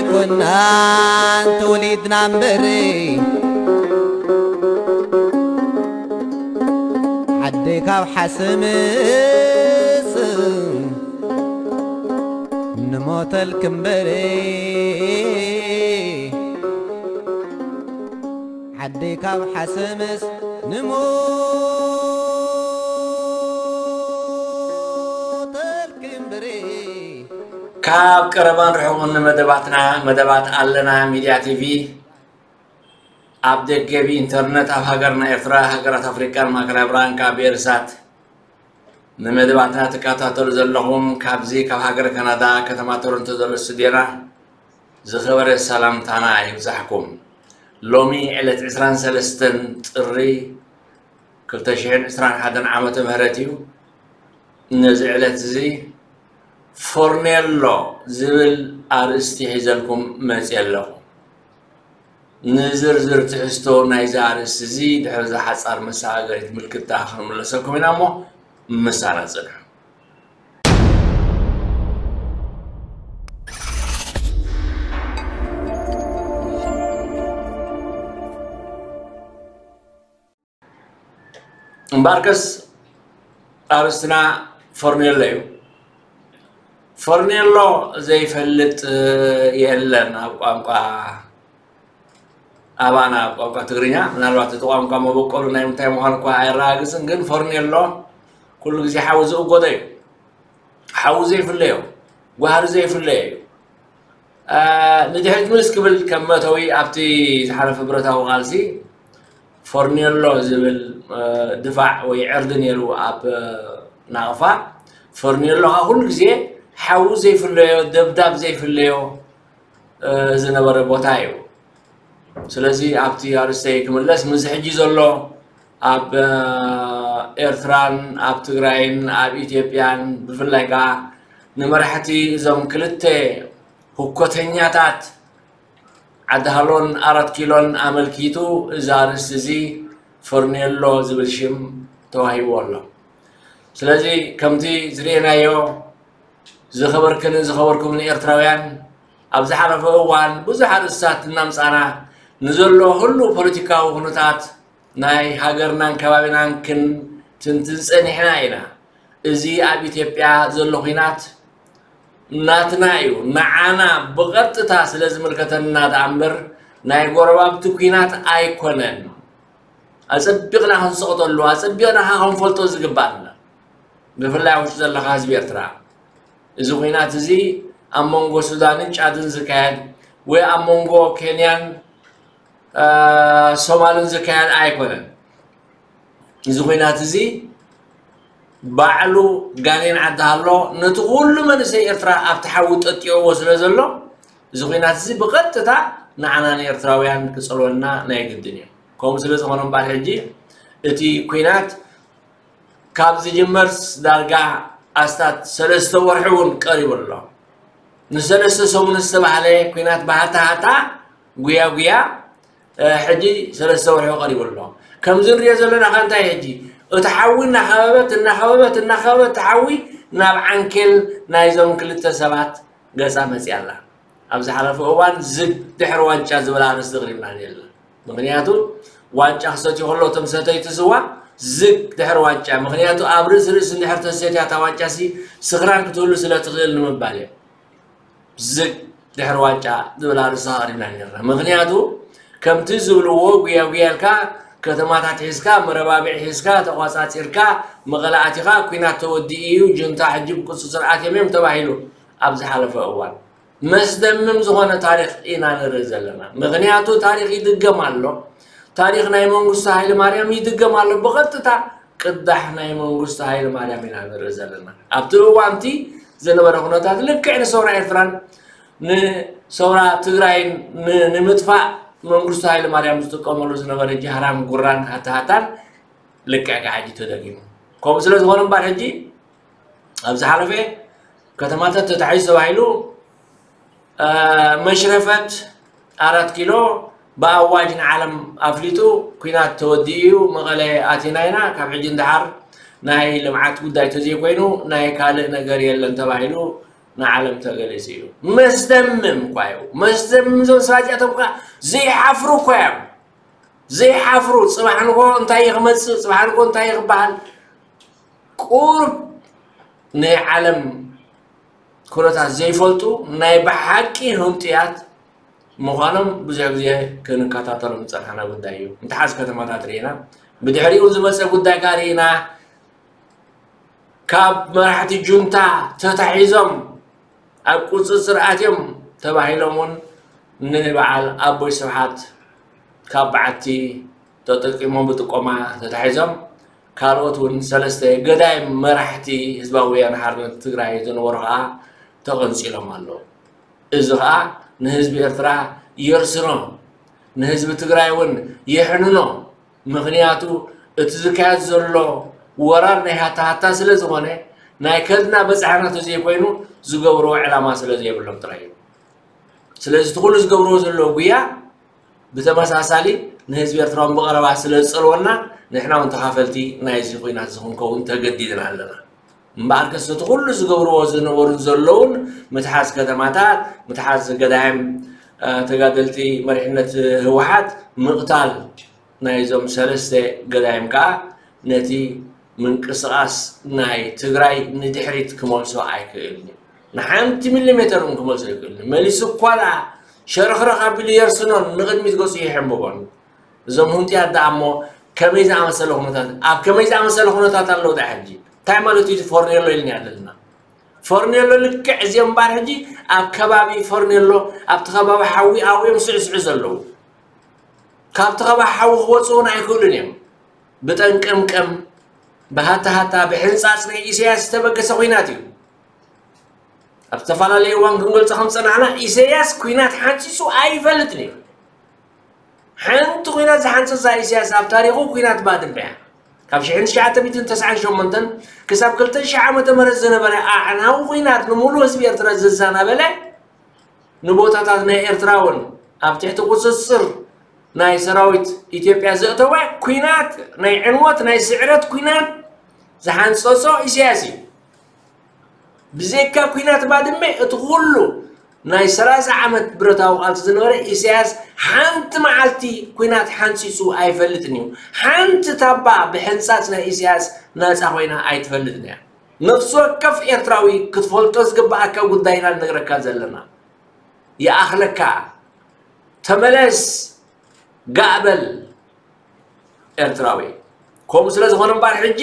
ኮናን ተወሊድና እምበር፣ ዓደይ ካብ ሓሰምስ ንሞተልኪ እምበር፣ ዓደይ ካብ ሓሰምስ ንሞተልኪ እምበር። ካብ ቀረባን ርሑቕን ንመደባትና፣ መደባት ኣለና ሚድያ ቲቪ፣ ኣብ ደገ ብኢንተርነት፣ ኣብ ሃገርና ኤርትራ፣ ሃገራት ኣፍሪቃን ማእከላይ ብርሃን ካብ ብኤርሳት ንመደባትና ትከታተሉ ዘለኹም፣ ካብዚ ካብ ሃገረ ካናዳ ከተማ ቶሮንቶ ዘሎ ስቱድዮና ዝኸበረ ሰላምታና ይብጻሕኩም። ሎሚ ዕለት ዕስራን ሰለስተን ጥሪ ክልተ ሽሕን ዕስራን ሓደን ዓመተ ምህረት እዩ። ነዚ ዕለት እዚ ፎርኔሎ ዝብል ኣርእስቲ ሒዘልኩም መጽየ ኣለኹ። ንዝርዝር ትሕዝቶ ናይዚ ኣርእስቲ እዚ ድሕሪ እዛ ሓጻር መሰጋገሪት ምልክታ ክንምለሰኩም ኢና እሞ ምሳና ጽንሑ። እምበኣርከስ ኣርእስትና ፎርኔሎ እዩ። ፎርኔሎ ዘይፈልጥ የለን ኣብ ቋንቋ ኣባና፣ ኣብ ቋንቋ ትግርኛ። ምናልባት እቲ ቋንቋ መበቆሉ ናይ ምንታይ ምዃኑ እኳ ኣየረጋግጽን፣ ግን ፎርኔሎ ኩሉ ግዜ ሓዊ ዝእጎዶ እዩ። ሓዊ ዘይፍለዮ፣ ጓህሪ ዘይፍለዮ እዩ። አ፣ ንድሕሪት ምልስ ክብል ከም መእተዊ ኣብቲ ዝሓለፈ ብረታዊ ቃልሲ ፎርኔሎ ዝብል፣ አ፣ ድፋዕ ወይ ዕርዲ ነይሩ ኣብ፣ አ፣ ናቕፋ። ፎርኔሎ ከዓ ኩሉ ግዜ ሓዊ ዘይፍለዮ፣ ደብዳብ ዘይፍለዮ፣ አ፣ ዝነበረ ቦታ እዩ። ስለዚ ኣብቲ ኣርእስተይ ክምለስ፣ ምስዚ ሕጂ ዘሎ ኣብ፣ አ፣ ኤርትራን ኣብ ትግራይን ኣብ ኢትዮጵያን ብፍላይ ከዓ ንመራሕቲ እዞም ክልተ ህኮተኛታት ዓዲ ሃሎን ኣራት ኪሎን ኣመልኪቱ እዚ ኣርእስቲ እዚ ፎርኔሎ ዝብል ሽም ተዋሂብዎ ኣሎ። ስለዚ ከምቲ ዝርኤናዮ ዝኸበርክንን ዝኸበርኩምን ኤርትራውያን፣ ኣብ ዝሓለፈ እዋን ብዙሕ ኣርእስታት እናምጻና ንዘሎ ህሉው ፖለቲካዊ ኩነታት ናይ ሃገርናን ከባቢናን ክንትንትን ጸኒሕና ኢና። እዚ ኣብ ኢትዮጵያ ዘሎ ኲናት ናትና እዩ፣ ንዓና ብቐጥታ ስለ ዝምልከተና ደኣ እምበር ናይ ጎረባብቲ ኲናት ኣይኮነን። ኣጸቢቕና ክንስቕጠሉ፣ ኣጸቢቕና ከኣ ክንፈልጦ ዝግባእና፣ ብፍላይ ኣብ ውሽጢ ዘለኻ ህዝቢ ኤርትራ፣ እዚ ኲናት እዚ ኣብ መንጎ ሱዳንን ጫድን ዝካየድ ወይ ኣብ መንጎ ኬንያን፣ አ፣ ሶማልን ዝካየድ ኣይኮነን። እዚ ኲናት እዚ ባዕሉ ጋኔን ዓዲ ሃሎ ነቲ ኩሉ መንእሰይ ኤርትራ ኣብቲ ሓዊ ጠጢዕዎ ስለ ዘሎ፣ እዚ ኲናት እዚ ብቐጥታ ንዓና ንኤርትራውያን ክጸልወና ናይ ግድን እዩ። ከምኡ ስለ ዝኾነ እምበኣር፣ ሕጂ እቲ ኲናት ካብ ዝጅመርስ ዳርጋ ኣስታት ሰለስተ ወርሒ እውን ቀሪቡ ኣሎ። ንሰለስተ ሰሙን ዝተባህለ ኲናት ብሃታ ሃታ፣ ጉያ ጉያ፣ እ፣ ሕጂ ሰለስተ ወርሒ ቀሪቡ ኣሎ። ከምዚ ንሪኦ ዘለና ከ እንታይ ሕጂ? እቲ ሓዊ እናኸበበት፣ እናኸበበት፣ እናኸበበት፣ እቲ ሓዊ ናብ ዓንኬል ናይዞም ክልተ ሰባት ገጻ መጽያ ኣላ። ኣብ ዝሓለፈ እዋን ዝግ ድሕሪ ዋንጫ ዝብል ኣርእስቲ ኣቕሪብና ነይርና። ምኽንያቱ ዋንጫ ክሰትዩ ከሎ እቶም ሰተይቲ ስዋ ዝግ ድሕሪ ዋንጫ፣ ምኽንያቱ ኣብ ርእሲ ርእሲ እንድሕር ተሰትያ እታ ዋንጫ ሲ ስኽራን ክትህሉ ስለ ትኽእል ንምባል እዮም። ዝግ ድሕሪ ዋንጫ ዝብል ኣርእስቲ ኣቕሪብና ነይርና። ምኽንያቱ ከምቲ ዝብልዎ ጉያ ጉያ ኢልካ ከተማታት ሒዝካ፣ መረባብዒ ሒዝካ፣ ተቋጻጺርካ፣ መቐለ ኣቲኻ፣ ኲናት ተወዲኡ እዩ፣ ጁንታ ሕጂ ብቁጽጽር ኣትዮም እዮም ተባሂሉ ኣብ ዝሓለፈ እዋን። መስደምም ዝኾነ ታሪኽ ኢና ንርኢ ዘለና። ምኽንያቱ ታሪኽ ይድገም ኣሎ። ታሪኽ ናይ መንግስቱ ሃይለ ማርያም ይድገም ኣሎ። ብቐጥታ ቅዳሕ ናይ መንግስቱ ሃይለ ማርያም ኢና ንርኢ ዘለና። ኣብቲ እዋንቲ ዝነበረ ኩነታት ልክዕ ንሰውራ ኤርትራን ንሰውራ ትግራይን ን-፣ ንምጥፋእ መንግስቱ ሃይለ ማርያም ዝጥቀመሉ ዝነበረ ጃህራን ጉራን ሃታሃታን ልክዕ ከዓ ሕጂ ተደጊሙ። ከምኡ ስለ ዝኾነ እምበር ሕጂ ኣብ ዝሓለፈ ከተማታት ተታሒዙ ተባሂሉ፣ እ፣ መሽረፈት ኣራት ኪሎ ብኣዋጅ ንዓለም ኣፍሊጡ፣ ኲናት ተወዲኡ እዩ፣ መቐለ ኣቲና ኢና፣ ካብ ሕጂ ንደሓር ናይ ልምዓት ጉዳይ ተዘይኮይኑ ናይ ካልእ ነገር የለን ተባሂሉ ንዓለም ተገሊጹ እዩ። መስደምም እኳ እዩ። መስደምም እዞም ሰባት እዚኣቶም ከኣ ዘይሓፍሩ እኳ እዮም። ዘይሓፍሩ፣ ጽባሕ ንግሆ እንታይ እዩ ክመጽእ፣ ጽባሕ ንግሆ እንታይ እዩ ክበሃል፣ ቁሩብ ናይ ዓለም ኩነታት ዘይፈልጡ ናይ ብሓቂ ህንጡያት ምዃኖም ብዙሕ ግዜ ክንከታተሎም ዝጸናሕና ጉዳይ እዩ። እንተሓዝ ከተማታት ርኢና፣ ብድሕሪኡ ዝመጸ ጉዳይ ከኣ ርኢና። ካብ መራሕቲ ጁንታ ተታሒዞም ኣብ ቁጽጽር ኣትዮም ተባሂሎም እውን ንበዓል ኣቦይ ስብሓት ካብ በዓቲ ተጠቂሞም ብጥቆማ ተታሒዞም። ካልኦት እውን ሰለስተ ገዳይም መራሕቲ ህዝባዊ ወያነ ሓርነት ትግራይ ዝነበሩ ከዓ ተቐንጺሎም ኣለዉ። እዚ ከዓ ንህዝቢ ኤርትራ የርስኖ፣ ንህዝቢ ትግራይ እውን የሕንኖ። ምኽንያቱ እቲ ዝካየድ ዘሎ ወራር ናይ ሃታ ሃታ ስለ ዝኾነ ናይ ከድና በጻሕና ተዘይኮይኑ ዝገብርዎ ዕላማ ስለ ዘይብሎም ጥራይ እዩ። ስለዚ እቲ ኩሉ ዝገብርዎ ዘለዉ ጉያ ብተመሳሳሊ ንህዝቢ ኤርትራ እውን ብቐረባ ስለ ዝጸልወና ንሕና እውን ተኻፈልቲ ናይዚ ኹናት እዚ ክንከውን ተገዲድና ኣለና። እምበኣርከስ እቲ ኩሉ ዝገብርዎ ዝነበሩን ዘለውን ምትሓዝ ከተማታት፣ ምትሓዝ ገዳይም ተጋደልቲ መሪሕነት ህወሓት ምቕታል ናይዞም ሰለስተ ገዳይም ከዓ ነቲ ምንቅስቓስ ናይ ትግራይ ንድሕሪት ክመልሶ ኣይክእልን እዩ። ንሓንቲ ሚሊሜተር እውን ክመልሶ ኣይክእልን እዩ። መሊሱ እኳ ደኣ ሸርኽረኽ ኣቢሉ የርስኖን ንቕድሚት ገጹ ይሕንብቦን። እዞም ህንጥያት ደኣ እሞ ከመይ ዝኣመሰለ ኩነታት፣ ኣብ ከመይ ዝኣመሰለ ኩነታት ኣለዉ ደኣ ሕጂ? እንታይ ማለት እዩ እቲ ፎርኔሎ ኢልና ኣለና? ፎርኔሎ ልክዕ እዚኦም እምበኣር ሕጂ ኣብ ከባቢ ፎርኔሎ፣ ኣብቲ ከባቢ ሓዊ ኣብኡ እዮም ስዕስዑ ዘለዉ። ካብቲ ከባቢ ሓዊ ክወፁ እውን ኣይክእሉን እዮም። ብጠንቀምቀም፣ ብሃታሃታ፣ ብሕንፃፅ ናይ ኢሳያስ ዝተበገሰ ኹናት እዩ። ኣብ ዝተፈላለየ እዋን ክንገልፆ ከም ፀናሕና ኢሳያስ ኹናት ሓንፂፁ ኣይፈልጥን እዩ። ሓንቲ ኹናት ዝሓንፀፃ ኢሳያስ ኣብ ታሪኹ ኹናት ባድመ እያ። ካብ ሽሕን ትሽዓተ ሚእትን ተስዓን ሸሞንተን ክሳብ ክልተ ሽሕ ዓመተ ምህረት ዝነበረ ኣዕናዊ ኹናት ንምሉእ ህዝቢ ኤርትራ ዘዛናበለ ንቦታታት ናይ ኤርትራ እውን ኣብ ትሕቲ ቁፅፅር ናይ ሰራዊት ኢትዮጵያ ዘእተወ ኲናት፣ ናይ ዕንወት ናይ ስዕረት ኲናት ዝሓንፀፆ ኢሳያስ እዩ። ብዘይካ ኲናት ባድመ እቲ ኩሉ ናይ ሰላሳ ዓመት ብረታዊ ቃልሲ ዝነበረ ኢሳያስ ሓንቲ መዓልቲ ኲናት ሓንፂፁ ኣይፈልጥን እዩ። ሓንቲ ታባ ብሕንፃፅ ናይ ኢሳያስ ናፃ ኮይና ኣይትፈልጥን እያ። ነፍሲ ወከፍ ኤርትራዊ ክትፈልጦ ዝግበኣካ ጉዳይ ኢና ንነግረካ ዘለና። ይኣኽለካ። ተመለስ፣ ጋእ በል ኤርትራዊ። ከምኡ ስለ ዝኾነ እምበኣር ሕጂ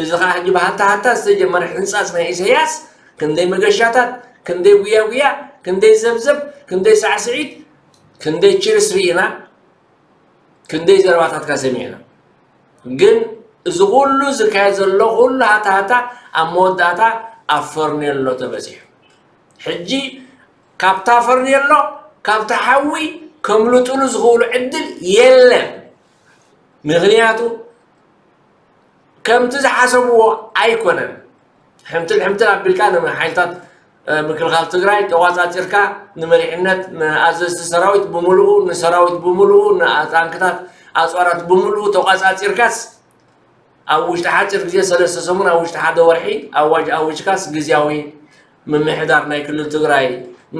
እዚ ኸዓ ሕጂ ብሃታ ሃታ ዝተጀመረ ሕንጻጽ ናይ ኢሳያስ ክንደይ መገሻታት፣ ክንደይ ጉያ ጉያ፣ ክንደይ ዘብዘብ፣ ክንደይ ሳዕስዒት፣ ክንደይ ችርስ ርኢና። ክንደይ ዘረባታትካ ሰሚዕና። ግን እዚ ኩሉ ዝካየድ ዘሎ ኩሉ ሃታ ሃታ ኣብ መወዳእታ ኣብ ፈርኔሎ ተበጺሑ። ሕጂ ካብታ ፈርኔሎ ካብቲ ሓዊ ከምልጥሉ ዝኽእሉ ዕድል የለን። ምኽንያቱ ከምቲ ዝሓሰብዎ ኣይኮነን። ሕምትል ሕምትል ኣቢልካ ንሓይልታት ምክልኻል ትግራይ ተቋጻጺርካ ንመሪሕነት ንኣዘዝቲ ሰራዊት ብምልኡ ንሰራዊት ብምልኡ ንታንክታት ኣፅዋራት ብምልኡ ተቋጻጺርካስ ኣብ ውሽጢ ሓፂር ግዜ ሰለስተ ሰሙን ኣብ ውሽጢ ሓደ ወርሒ ኣዋጅ ኣዊጅካስ ግዝያዊ ምምሕዳር ናይ ክልል ትግራይ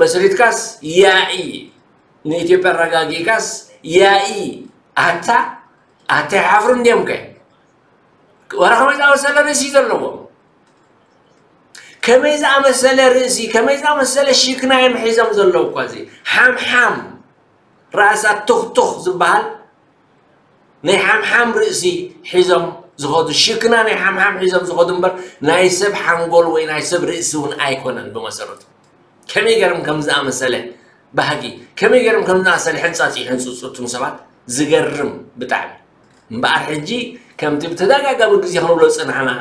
መስሪትካስ ያኢ ንኢትዮጵያ ኣረጋጊእካስ ያኢ ኣታ ኣታ ይሓፍሩ እንዲዮም ከ ወረ ከመይ ዝኣመሰለ ርእሲ ዘለዎም ከመይ ዝኣመሰለ ርእሲ ከመይ ዝኣመሰለ ሽክና እዮም ሒዞም ዘለዉ እኳ እዚ ሓምሓም ራእሳ ቱኽቱኽ ዝበሃል ናይ ሓምሓም ርእሲ ሒዞም ዝኸዱ ሽክና ናይ ሓምሓም ሒዞም ዝኸዱ እምበር ናይ ሰብ ሓንጎል ወይ ናይ ሰብ ርእሲ እውን ኣይኮነን ብመሰረቱ ከመይ ገርም ከም ዝኣመሰለ ባህጊ ከመይ ገርም ከም ዝኣመሰለ ሕንፃፅ ይሕንፅፁ እቱም ሰባት ዝገርም ብጣዕሚ እምበኣር ሕጂ ከምቲ ብተደጋጋሚ ግዜ ክንብሎ ዝፅናሕና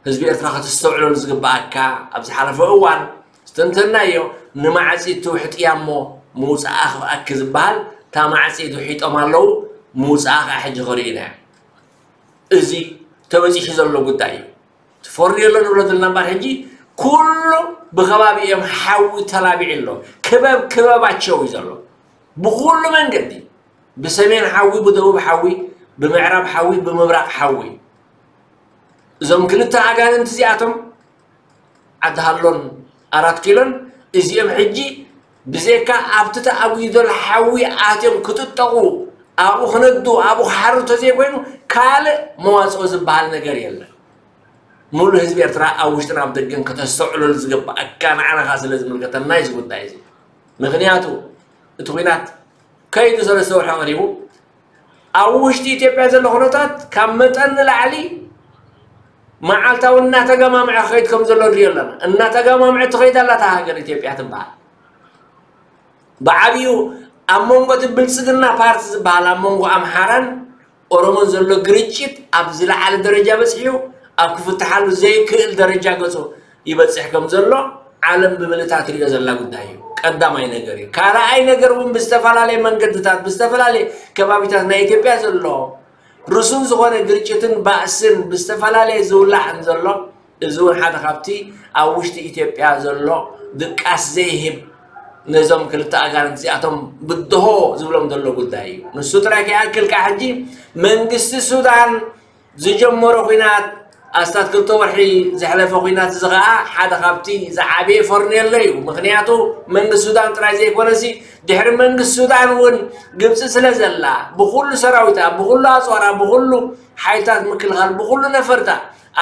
ህዝቢ ኤርትራ ከተስተውዕለሉ ዝግበኣካ ኣብ ዝሓለፈ እዋን ዝተንተናዮ ንማዕፂ ትውሕጥያ እሞ ምውፃኣ ክፍኣኪ ዝበሃል እታ ማዕፂ ትውሒጦም ኣለዉ ምውፃኣ ከዓ ሕጂ ክርእዩና እዮም እዚ ተበፂሑ ዘሎ ጉዳይ እዩ ትፈርድዮ ኣሎ ንብሎ ዘለና እምበር ሕጂ ኩሉ ብከባቢ እዮም ሓዊ ተላቢዑ ኣሎ ክበብ ክበባቸው እዩ ዘሎ ብኩሉ መንገዲ ብሰሜን ሓዊ ብደቡብ ሓዊ ብምዕራብ ሓዊ ብምብራቕ ሓዊ እዞም ክልተ ኣጋንንቲ እዚኣቶም ዓዲ ሃሎን ኣራት ኪሎን እዚኦም ሕጂ ብዘይካ ኣብቲ ተኣጉዩ ዘሎ ሓዊ ኣትዮም ክጥጠቑ፣ ኣብኡ ክነዱ፣ ኣብኡ ክሓርዱ ተዘይኮይኑ ካልእ መዋፅኦ ዝበሃል ነገር የለን። ሙሉእ ህዝቢ ኤርትራ ኣብ ውሽጥን ኣብ ደገን ከተስተውዕለሉ ዝግባኣካ ንዓና ስለ ዝምልከተና እዩ እዚ ጉዳይ እዚ። ምኽንያቱ እቲ ኲናት ከይዱ ሰለስተ ወርሒ ቀሪቡ ኣብ ውሽጢ ኢትዮጵያ ዘሎ ኩነታት ካብ መጠን ንላዕሊ መዓልታዊ እናተገማምዐ ክኸይድ ከም ዘሎ ንሪኦ ኣለና። እናተገማምዐ ትኸይድ ኣላ እታ ሃገር ኢትዮጵያ ትበሃል። ብዓብዩ ኣብ መንጎ እቲ ብልጽግና ፓርቲ ዝበሃል ኣብ መንጎ ኣምሓራን ኦሮሞን ዘሎ ግርጭት ኣብ ዝለዓለ ደረጃ በጺሑ ኣብ ክፍትሓሉ ዘይክእል ደረጃ ገጹ ይበጽሕ ከም ዘሎ ዓለም ብምልእታ ትሪኦ ዘላ ጉዳይ እዩ። ቀዳማይ ነገር እዩ። ካልኣይ ነገር እውን ብዝተፈላለየ መንገድታት ብዝተፈላለየ ከባቢታት ናይ ኢትዮጵያ ዘሎ ርሱን ዝኾነ ግርጭትን ባእስን ብዝተፈላለየ ዝውላዕ እንዘሎ እዚ እውን ሓደ ካብቲ ኣብ ውሽጢ ኢትዮጵያ ዘሎ ድቃስ ዘይህብ ነዞም ክልተ ኣጋንንቲ እዚኣቶም ብድሆ ዝብሎም ዘሎ ጉዳይ እዩ። ንሱ ጥራይ ከይኣክል ከዓ ሕጂ መንግስቲ ሱዳን ዝጀመሮ ኲናት ኣስታት ክልተ ወርሒ ዘሕለፈ ኲናት እዚ ከዓ ሓደ ካብቲ ዝዓበየ ፈርኔሎ እዩ። ምኽንያቱ መንግስቲ ሱዳን ጥራይ ዘይኮነሲ ድሕሪ መንግስቲ ሱዳን እውን ግብፂ ስለ ዘላ ብኩሉ ሰራዊታ ብኩሉ ኣፅዋራ ብኩሉ ሓይልታት ምክልኻል ብኩሉ ነፈርታ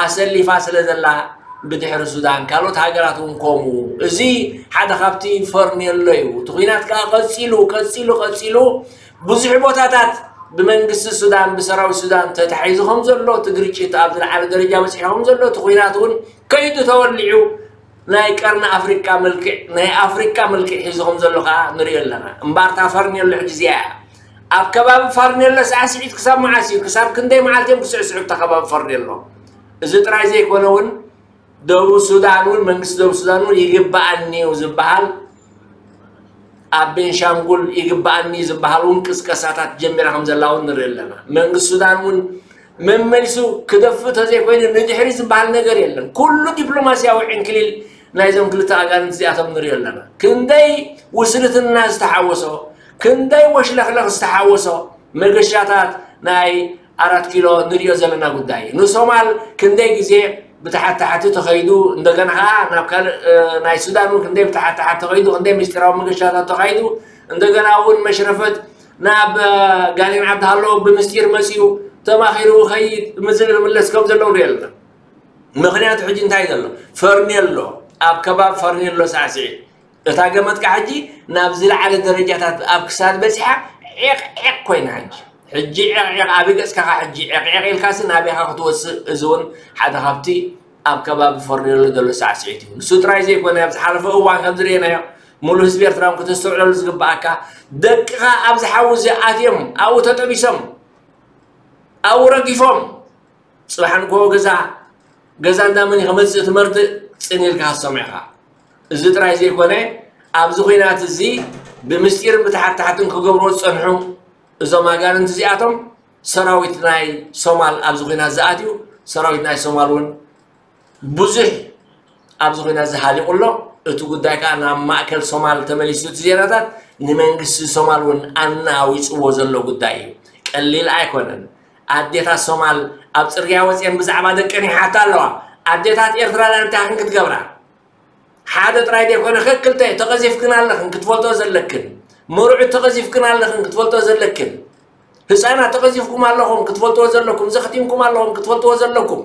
ኣሰሊፋ ስለ ዘላ ብድሕሪ ሱዳን ካልኦት ሃገራት እውን ከምኡ። እዚ ሓደ ካብቲ ፈርኔሎ እዩ። እቲ ኲናት ከዓ ቀፂሉ ቀፂሉ ቀፂሉ ብዙሕ ቦታታት ብመንግስቲ ሱዳን ብሰራዊት ሱዳን ተታሒዙ ከም ዘሎ እቲ ግርጭት ኣብ ዝለዓለ ደረጃ በፂሑ ከም ዘሎ እቲ ኲናት እውን ከይዱ ተወሊዑ ናይ ቀርኒ ኣፍሪቃ መልክዕ ናይ ኣፍሪቃ መልክዕ ሒዙ ከም ዘሎ ከዓ ንሪኦ ኣለና። እምበኣር እታ ፈርኔሎ ሕጂ እዚኣ እያ። ኣብ ከባቢ ፈርኔሎ ሳዕስዒት ክሳብ መዓስ እዩ? ክሳብ ክንደይ መዓልቲ እዮም ክስዕስዑ ኣብታ ከባቢ ፈርኔሎ? እዚ ጥራይ ዘይኮነ እውን ደቡብ ሱዳን እውን መንግስቲ ደቡብ ሱዳን እውን ይግበኣኒ እዩ ዝበሃል ኣብ ቤንሻንጉል ይግበኣኒ ዝበሃል እውን ቅስቀሳታት ጀሚራ ከም ዘላ እውን ንርኢ ኣለና። መንግስቲ ሱዳን እውን መመሊሱ ክደፍእ ተዘይኮይኑ ንድሕሪ ዝበሃል ነገር የለን። ኩሉ ዲፕሎማስያዊ ዕንክሊል ናይዞም ክልተ ኣጋንንቲ እዚኣቶም ንሪኦ ኣለና። ክንደይ ውስልትና ዝተሓወሶ፣ ክንደይ ወሽለኽለኽ ዝተሓወሶ መገሻታት ናይ ኣራት ኪሎ ንሪኦ ዘለና ጉዳይ እዩ። ንሶማል ክንደይ ግዜ ብታሕቲ ታሕቲ ተኸይዱ እንደገና ከዓ ናብ ካልእ ናይ ሱዳን እውን ክንደይ ብታሕቲ ታሕቲ ተኸይዱ ክንደይ ምስጢራዊ መገሻታት ተኻይዱ እንደገና እውን መሽረፈት ናብ ጋኔን ዓዲ ሃሎ ብምስጢር መፂኡ ተማኺሩ ኸይድ ምዝል ምለስ ከም ዘለዉ ንሪኦ ኣለና። ምኽንያቱ ሕጂ እንታይ ዘሎ ፈርኔሎ ኣብ ከባቢ ፈርኔሎ ሳዕስዒ እታ ገመጥካ ሕጂ ናብ ዝለዓለ ደረጃታት ኣብ ክሳድ በፂሓ ዒቕ ዒቕ ኮይና ሕጂ ሕጂ ዒቕ ዒቕ ኣብ ገፅካ ኸዓ ሕጂ ዒቕ ዒቕ ኢልካሲ ናበይኻ ክትወፅእ እዚ እውን ሓደ ካብቲ ኣብ ከባቢ ፈርኔሎ ዘሎ ሳዕስዒት እዩ። ንሱ ጥራይ ዘይኮነ ኣብ ዝሓለፈ እዋን ከም ዝርኤናዮ ሙሉ ህዝቢ ኤርትራ እውን ከተስተውዕለሉ ዝግበኣካ ደቅኻ ኣብዚ ሓዊ እዚ ኣትዮም ኣብኡ ተጠቢሶም ኣብኡ ረጊፎም ፅባሕ ንግሆ ገዛ ገዛ እንዳመን እዩ ከመፅእ እቲ መርድእ ፅን ኢልካ ክትሰምዖ ኢኻ። እዚ ጥራይ ዘይኮነ ኣብዚ ኹናት እዚ ብምስጢርን ብታሕታሕትን ክገብርዎ ዝፀንሑ እዞም ኣጋንንቲ እዚኣቶም ሰራዊት ናይ ሶማል ኣብዚ ኹናት ዝኣትዩ ሰራዊት ናይ ሶማል እውን ብዙሕ ኣብዚ ኹናት ዝሃሊቑ ኣሎ። እቲ ጉዳይ ከዓ ናብ ማእከል ሶማል ተመሊሱ እቲ ዜናታት ንመንግስቲ ሶማል እውን ኣናዊፅዎ ዘሎ ጉዳይ እዩ። ቀሊል ኣይኮነን። ኣዴታት ሶማል ኣብ ፅርግያ ወፅየን ብዛዕባ ደቀን ይሓታ ኣለዋ። ኣዴታት ኤርትራ እንታይ ክንክትገብራ ሓደ ጥራይ ዘይኮነ ከክልተ ተቐዚፍክን ኣለኽን ክትፈልጦ ዘለክን መርዑት ተቐዚፍክን ኣለኽን ክትፈልጦ ዘለክን ህፃናት ተቐዚፍኩም ኣለኹም ክትፈልጥዎ ዘለኩም ዘኽቲምኩም ኣለኹም ክትፈልጥዎ ዘለኩም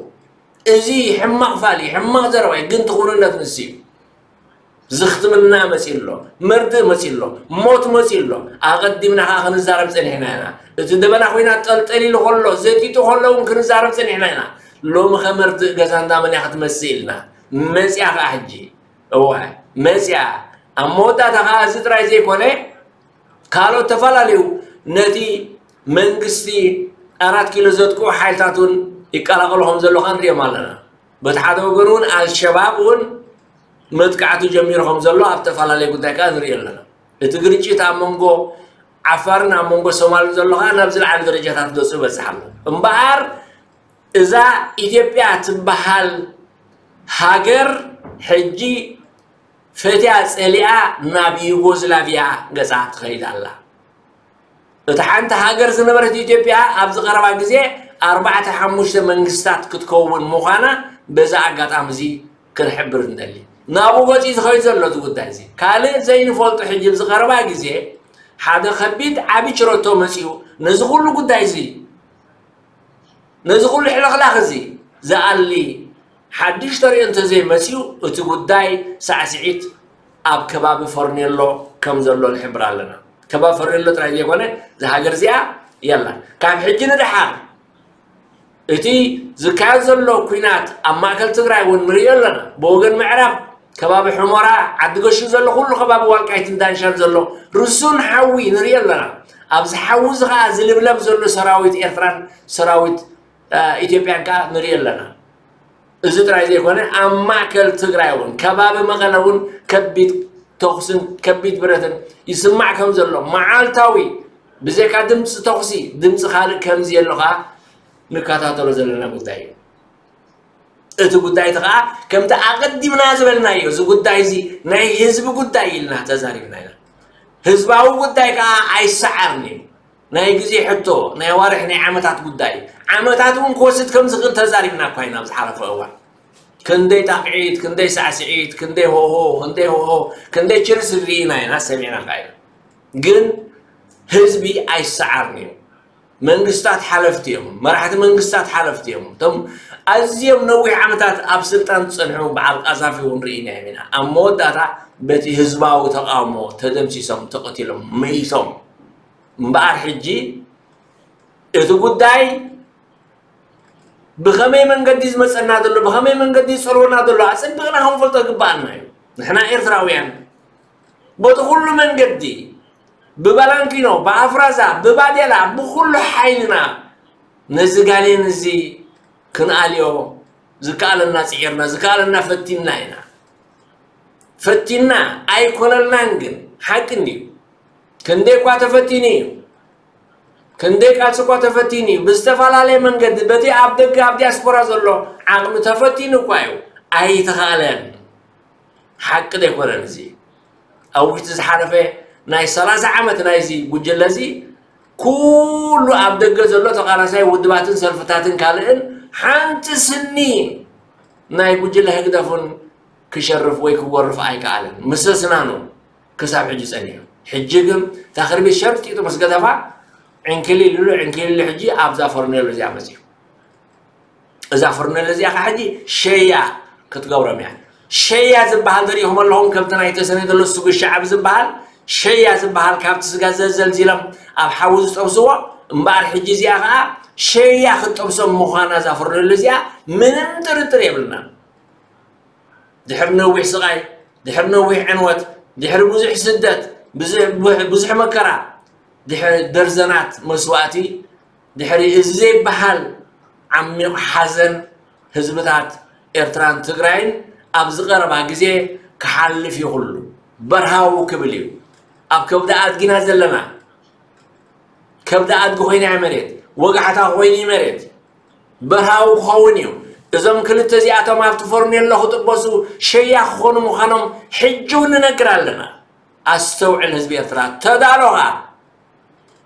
እዚ ሕማቕ ፋሊ ሕማቕ ዘረባይ ግን ትኹርነት ንስ እዩ። ዝኽትምና መፂ ኣሎ መርድእ መፂ ኣሎ ሞት መፂ ኣሎ ኣቐዲምና ከዓ ክንዛረብ ፀኒሕና ኢና። እቲ ደበና ኮይና ጠልጠል ኢሉ ከሎ ዘጢጡ ከሎ እውን ክንዛረብ ፀኒሕና ኢና። ሎሚ ከመርድእ ገዛ እንዳመን እያ ክትመፅእ ኢልና መፅያ ከዓ ሕጂ እዋ መፅያ ኣብ መወዳእታ ከዓ እዚ ጥራይ ዘይኮነ ካልኦት ተፈላለዩ ነቲ መንግስቲ ኣራት ኪሎ ዘጥቅዑ ሓይልታት እውን ይቀላቀሉ ከም ዘለካ ንሪኦም ኣለና። በቲ ሓደ ወገን እውን ኣልሸባብ እውን መጥቃዕቱ ጀሚሩ ከም ዘሎ ኣብ ተፈላለየ ጉዳይ ከዓ ንሪኦ ኣለና። እቲ ግርጭት ኣብ መንጎ ዓፋርን ኣብ መንጎ ሶማልን ዘሎ ከዓ ናብ ዝለዓለ ደረጃታት ገፁ ይበፅሕ ኣሎ እምበኣር እዛ ኢትዮጵያ ትበሃል ሃገር ሕጂ ፈትያ ፀሊኣ ናብ ዩጎዝላቪያ ገፃ ትኸይድ ኣላ። እታ ሓንቲ ሃገር ዝነበረት ኢትዮጵያ ኣብዚ ቀረባ ግዜ ኣርባዕተ ሓሙሽተ መንግስታት ክትከውን ምዃና በዚ ኣጋጣሚ እዚ ክንሕብር ንደሊ። ናብኡ ገፂ ዝኸይድ ዘሎ እዚ ጉዳይ እዚ። ካልእ ዘይንፈልጦ ሕጂ ኣብዚ ቀረባ ግዜ ሓደ ከቢድ ዓቢ ችረቶ መፂኡ ነዚ ኩሉ ጉዳይ እዚ፣ ነዚ ኩሉ ሕልኽላኽ እዚ ዝኣሊ ሓድሽ ተርእዮ እንተዘይመፂኡ፣ እቲ ጉዳይ ሳዕስዒት ኣብ ከባቢ ፈርኔሎ ከም ዘሎ ንሕብር ኣለና። ከባቢ ፈርኔሎ ጥራይ ዘይኮነ፣ እዛ ሃገር እዚኣ የላ። ካብ ሕጂ ንደሓር እቲ ዝካየድ ዘሎ ኲናት ኣብ ማእከል ትግራይ እውን ንርእዮ ኣለና። ብወገን ምዕራብ ከባቢ ሑመራ፣ ዓዲ ገሹ ዘሎ ኩሉ ከባቢ ዋልቃይትን ዳንሻን ዘሎ ርሱን ሓዊ ንርእዮ ኣለና። ኣብዚ ሓዊ እዚ ኸዓ ዝልብለብ ዘሎ ሰራዊት ኤርትራን ሰራዊት፣ እ፣ ኢትዮጵያን ከኣ ንርእዮ ኣለና። እዚ ጥራይ ዘይኮነ፣ ኣብ ማእከል ትግራይ እውን፣ ከባቢ መቐለ እውን ከቢድ ተኹስን ከቢድ ብረትን ይስማዕ ከም ዘሎ፣ መዓልታዊ ብዘይካ ድምፂ ተኹሲ፣ ድምፂ ካልእ ከምዚ ኣሎ ኸዓ ንከታተሎ ዘለና ጉዳይ እዩ። እቲ ጉዳይ እቲ ኸዓ ከምቲ ኣቐዲምና ዝበልናዮ፣ እዚ ጉዳይ እዚ ናይ ህዝቢ ጉዳይ ኢልና ተዛሪብና ኢና። ህዝባዊ ጉዳይ ከኣ ኣይሰዓርን እዩ። ናይ ግዜ ሕቶ፣ ናይ ኣዋርሕ፣ ናይ ዓመታት ጉዳይ እዩ። ዓመታት እውን ክወስድ ከም ዝኽእል ተዛሪብና እኳ ኢና ኣብ ዝሓለፈ እዋን። ክንደይ ጣቕዒት፣ ክንደይ ሳዕስዒት፣ ክንደይ ሆሆ፣ ክንደይ ሆሆ፣ ክንደይ ችርስ ርኢና ኢና፣ ሰሚዕና ከኣ ኢና። ግን ህዝቢ ኣይሰዓርን እዩ። መንግስታት ሓለፍቲ እዮም፣ መራሕቲ መንግስታት ሓለፍቲ እዮም። እቶም ኣዝዮም ነዊሕ ዓመታት ኣብ ስልጣን ዝጸንሑ በዓል ቃዛፊ እውን ርኢናዮም ኢና። ኣብ መወዳእታ በቲ ህዝባዊ ተቃውሞ ተደምሲሶም፣ ተቐቲሎም፣ መይቶም። እምበኣር ሕጂ እቲ ጉዳይ ብኸመይ መንገዲ ዝመጸና ዘሎ፣ ብኸመይ መንገዲ ዝጸልወና ዘሎ ኣጸቢቕና ክንፈልጦ ይግባኣና እዩ። ንሕና ኤርትራውያን በቲ ኩሉ መንገዲ፣ ብባላንኪኖ፣ ብኣፍራዛ፣ ብባዴላ፣ ብኹሉ ሓይልና ነዚ ጋኔን እዚ ክንኣልዮ ዝከኣለና ጽዒርና፣ ዝከኣለና ፈቲንና ኢና። ፈቲንና ኣይኮነልናን፣ ግን ሓቂ እንድዩ። ክንደይ እኳ ተፈቲኑ እዩ። ክንደይ ቃልሲ እኳ ተፈቲኑ እዩ። ብዝተፈላለየ መንገዲ፣ በቲ ኣብ ደገ፣ ኣብ ዲያስፖራ ዘሎ ዓቕሚ ተፈቲኑ እኳ እዩ። ኣይተኻእለን። ሓቂ ዘይኮነን እዚ። ኣብ ውሽጢ ዝሓለፈ ናይ ሰላሳ ዓመት ናይዚ ጉጅለ እዚ፣ ኩሉ ኣብ ደገ ዘሎ ተቓላሳይ ውድባትን ሰልፍታትን ካልእን፣ ሓንቲ ስኒ ናይ ጉጅለ ህግደፍን ክሸርፍ ወይ ክወርፍ ኣይከኣለን። ምስስናኑ ክሳብ ሕጂ ጸኒሑ። ሕጂ ግን እታ ክርቢት ሸርጢጡ ምስ ገደፋ፣ ዕንክሊል ኢሉ፣ ዕንክሊል ኢሉ፣ ሕጂ ኣብዛ ፈርኔሎ እዚኣ መጺኡ። እዛ ፈርኔሎ እዚኣ ኸዓ ሕጂ ሸያ ክትገብሮም እያ። ሸያ ዝበሃል ዘሪእኹም ኣለኹም፣ ከምቲ ናይ ተሰነይ ዘሎ ስጉ ሸዓብ ዝበሃል፣ ሸያ ዝበሃል ካብቲ ስጋ ዘዘልዚሎም ኣብ ሓዊ ዝጠብስዎ፣ እምበኣር ሕጂ እዚኣ ኸዓ ሸያ ክትጠብሶም ምዃና እዛ ፈርኔሎ እዚኣ ምንም ጥርጥር የብልናን። ድሕሪ ነዊሕ ስቓይ፣ ድሕሪ ነዊሕ ዕንወት፣ ድሕሪ ብዙሕ ስደት፣ ብዙሕ፣ ብዙሕ መከራ፣ ድሕሪ ደርዘናት መስዋእቲ፣ ድሕሪ እዚ ዘይበሃል ዓሚቕ ሓዘን ህዝብታት ኤርትራን ትግራይን ኣብዚ ቀረባ ግዜ ክሓልፍ እዩ ኩሉ። በርሃው ክብል እዩ። ኣብ ከብዲ ኣድጊና ዘለና፣ ከብዲ ኣድጊ ኮይና እያ መሬት፣ ወጋሕታ ኮይኑ እዩ መሬት። በርሃዊ ክኸውን እዩ። እዞም ክልተ እዚኣቶም ኣብቲ ፈርኔሎ ክጥበሱ ሸያ ክኾኑ ምዃኖም ሕጂ እውን ንነግር ኣለና። ኣስተውዕል ህዝቢ ኤርትራ፣ ተዳሎ ኸኣ።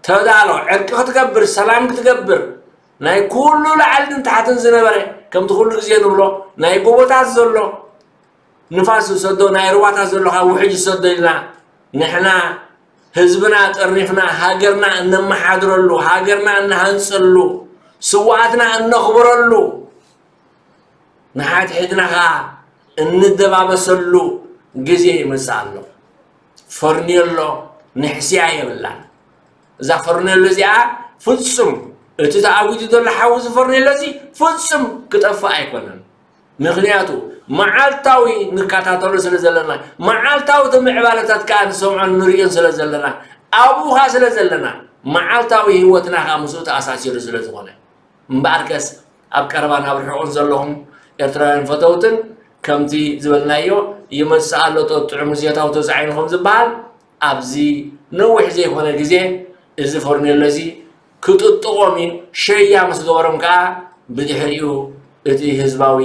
ተዳሎ፣ ዕርቂ ክትገብር፣ ሰላም ክትገብር፣ ናይ ኩሉ ላዕልን ታሕትን ዝነበረ፣ ከምቲ ኩሉ ግዜ ንብሎ፣ ናይ ጎቦታት ዘሎ፣ ንፋስ ዝሰዶ፣ ናይ ሩባታት ዘሎ ካብ ውሕጅ ዝሰዶ ኢልና፣ ንሕና ህዝብና ጠርኒፍና፣ ሃገርና እነመሓድረሉ፣ ሃገርና እንሃንጸሉ፣ ስውኣትና እነኽብረሉ፣ ንሓድሕድና ኸኣ እንደባበሰሉ ግዜ ይመጽእ ኣሎ። ፈርኔሎ ንሕስያ የብላን። እዛ ፈርኔሎ እዚኣ ፍጹም፣ እቲ ተኣዊዱ ዘሎ ሓዊ፣ እዚ ፈርኔሎ እዚ ፍጹም ክጠፍእ ኣይኮነን። ምኽንያቱ መዓልታዊ ንከታተሎ ስለ ዘለና፣ መዓልታዊ እቲ ምዕባለታት ከኣ ንሰምዖን ንርእዮን ስለ ዘለና፣ ኣብኡ ከኣ ስለ ዘለና፣ መዓልታዊ ህይወትና ከኣ ምስኡ ተኣሳሲሩ ስለ ዝኾነ። እምበኣርከስ ኣብ ቀረባን ኣብ ርሑቕን ዘለኹም ኤርትራውያን ፈተውትን፣ ከምቲ ዝበልናዮ፣ ይመጽእ ኣሎ ጥዑም ምዜታው ተጻዒኑ ከም ዝበሃል፣ ኣብዚ ነዊሕ ዘይኮነ ግዜ እዚ ፈርኔሎ እዚ ክጥጥቖም እዩ። ሸያ ምስ ገበሮም ከኣ ብድሕሪኡ እቲ ህዝባዊ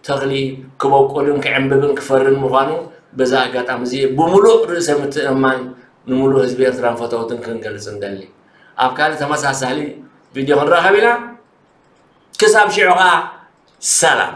ተኽሊ ክበቁልን ክዕምብብን ክፈርን ምዃኑ በዚ ኣጋጣሚ እዚ ብምሉእ ርእሰ ምትእምማን ንምሉእ ህዝቢ ኤርትራን ፈተውትን ክንገልጽ ንደሊ። ኣብ ካልእ ተመሳሳሊ ቪድዮ ክንራኸብ ኢና። ክሳብ ሽዑ ከኣ ሰላም።